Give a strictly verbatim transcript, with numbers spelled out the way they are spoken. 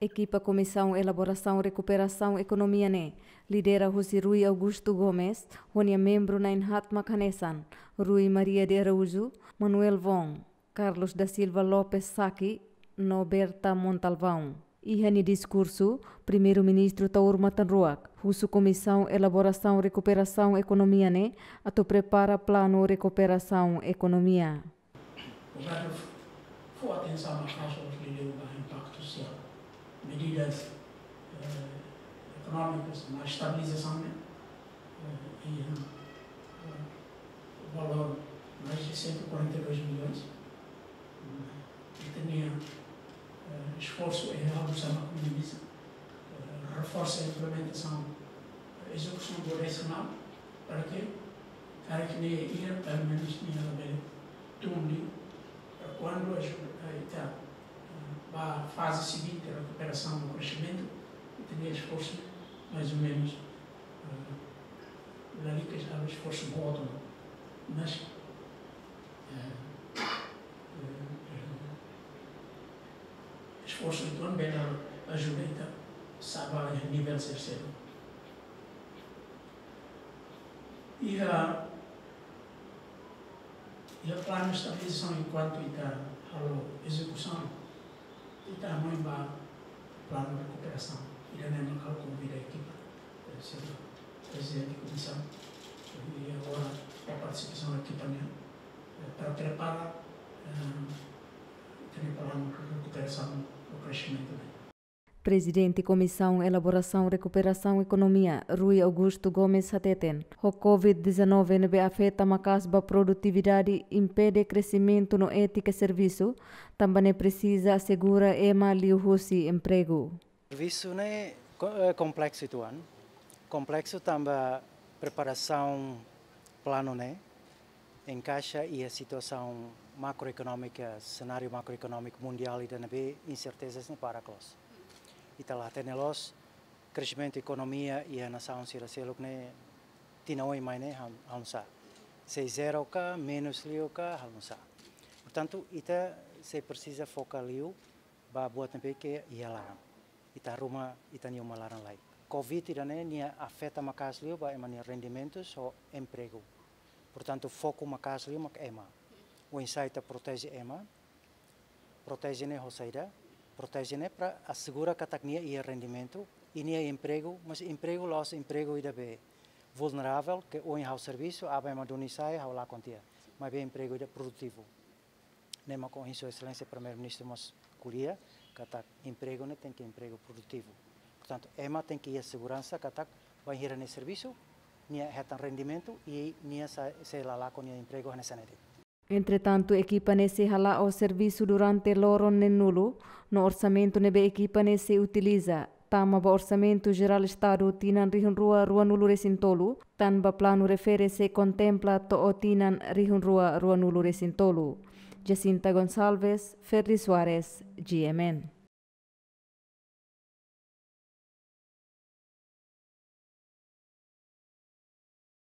Ekipa Komisaun Elaborasaun Rekuperasaun Ekonomia ne'e lidera husi Rui Augusto Gomes ho nia membru na'in-haat mak hanesan Rui Maria de Araújo, Manuel Wong, Carlos da Silva Lopes Saki no Berta Montalvão. Iha nia diskursu, Primeiru-Ministru Taur Matan Ruak husu Komisaun Elaborasaun Rekuperasaun Ekonomia ne'e atu prepara planu rekuperasaun ekonomia. Governu fó atensaun maka'as liuliu ba impaktu sosiál, medidas, eh, ekonómikas, ba estabilizasaun, eh, iha, eh, valór mais de cento e quarenta e dois milhões. Eh, ita-nia, eh, esforsu é realizar uma economia, eh, reforsa a implementação, eh, execução do racional, para que, para que nia iha, pelo menos, nia labele tun liu, para kuandu ajuda, eh, ita, eh, ba faze seguinte, rekuperasaun no kresimentu, ita-nia esforsu, mais ou menos, eh, lalika esforsu boot, mas, eh, eh, esforsu ida-ne'e bele ajuda ita sa'e ba nivel terceiro. Iha, iha planu estabilizasaun, enkuantu ita halo ezekusaun, ita hanoin ba planu rekuperasaun. Ida-ne'e mak ha'u konvida ekipa, eh, señór Prezidente Komisaun, i agora ba partisipasaun ekipa nian, eh, para prepara, eh, ita-nia planu rekuperasaun no kresimentu ne'e. Prezidente Komisaun Elaborasaun Rekuperasaun Ekonomia, Rui Augusto Gomes hateten, ho covid dezanove ne'ebé afeta maka'as ba produtividade, impede kresimentu no étika servisu, tanba ne'e presiza asegura ema liuhusi empregu. Servisu ne'e ko-, eh, kompleksu uitoan. Kompleksu tanba preparasaun planu ne'e enkaixa iha situasaun makroekonómika, senáriu makroekonómiku mundiál ida ne'ebé insertezas ne'e para kloos. Ita la hatene loos kresimentu ekonomia iha nasaun sira seluk ne'e tinan oin mai ne'e hal-, halo nu'usá. Sei zero ka, menus liu ka, halo nu'usá. Portantu, ita sei presiza foka liu ba buat ne'ebé ke iha laran. Ita ruma ita-nia uma laran lai. Covid ida-ne'e nia afeta maka'as liu ba ema nia rendimentus ho empregu. Portantu, foku maka'as liu mak ema. Oinsá ita proteje ema, proteje ne'e ho saida, proteje ne'e para asegura katak nia iha rendimentu, i nia empregu, mas empregu la'ós empregu ida be vulneravel, ke ohin ha'u servisu, aban ema duni sai, ha'u lakon tiha. Maibé empregu ida produtivu. Ne'e mak ohin Sua Exelénsia Primeiru-Ministru mós ko'alia, katak empregu ne'e tenke empregu produtivu. Portantu, ema tenke iha seguransa katak bainhira nia servisu, nia hetan rendimentu i nia sa-, sei la lakon nia empregu hanesan ne'e de'it. Entretantu, ekipa ne'e sei hala'o servisu durante loron neenulu, no orsamentu ne'ebé ekipa ne'e sei utiliza tama ba Orsamentu Jerál Estadu tinan rihun rua ruanulu-resin-tolu, tanba planu refere sei kontempla to'o tinan rihun rua ruanulu-resin-tolu. Jacinta Gonçalves, Ferdi Soares, G M N.